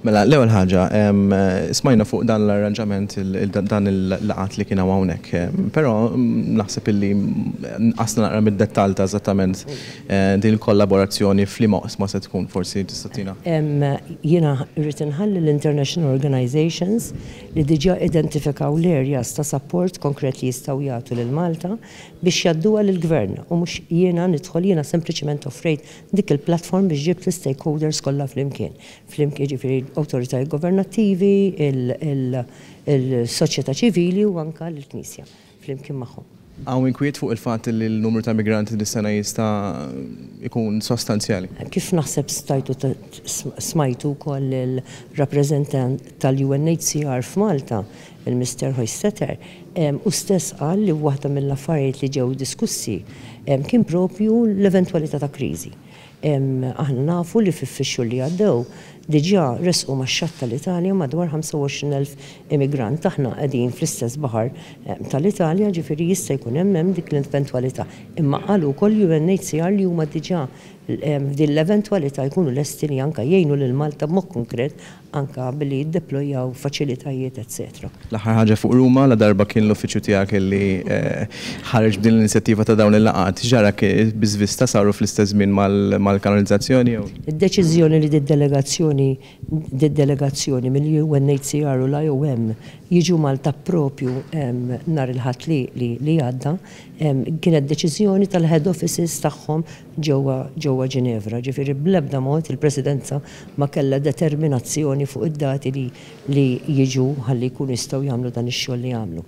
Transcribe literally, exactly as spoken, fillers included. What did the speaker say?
Mela, l-ewwel ħaġa, smajna fuq dan l-arranġament, dan il-laqgħat li kienu hawnhekk, però naħseb illi nqasna naqra mid-dettall ta' eżattament din il-kollaborazzjoni f'liema oqsma se tkun, forsi tista' ttina. Jiena rrid inħalli l-international organizations li diġà identifikaw l-areas ta' support konkret li jistgħu jagħtu lil Malta biex jgħadduha lill-gvern u mhux jiena nidħol. Jiena sempliċement offrejt dik il-platform biex ġibt l-stakeholders kollha flimkien. Flimkien, ġifieri awtoritajiet governattivi, il-soċjetà ċivili u anka l-Knisja flimkien magħhom. Hawn inkwiet fuq il-fatt li l-numru ta' migranti dis-sena jista' jkun sostanzjali. Kif naħseb stajtu smajtu wkoll il-rappreżentant tal-U N H C R f'Malta, il-Mister Hoistetter, hu stess qal li waħda mill-affarijiet li ġew diskussi kien propju l-eventwalità ta' kriżi. Aħna nafu li fix-xhur li għaddew diġà resqu max-xatt tal-Italja madwar ħamsa u għoxrin elf immigrant. Aħna qegħdin fl-istess baħar tal-Italja, ġifieri jista' jkun hemm hemm dik l-eventwalità. Imma qalu wkoll U N H C R li huma diġà f'din l-eventwalità jkunu lesti li anka jgħinu lil Malta b'mod konkret, anka billi jiddeplojaw faċilitajiet, eċċetera. L-aħħar ħaġa fuq Ruma, la darba kien l-uffiċċju tiegħek li ħareġ b'din l-inizjattiva ta' dawn il-laqgħat, ġara bi żvista saru fl-istess żmien mal-kanalizzazzjoni jew? Id-deċiżjoni li d-delegazzjoni d-delegazzjoni mill-U N H C R u l-I O M jiġu Malta propju nhar il-Ħadd li għadda kienet deċiżjoni tal-head offices tagħhom ġewwa ġewwa Ġinevra. Ġifieri bl-ebda mod il-Presidenza ma kellha determinazzjoni fuq id-dati li li jiġu ħalli jkunu jistgħu jagħmlu dan ix-xogħol li jagħmlu.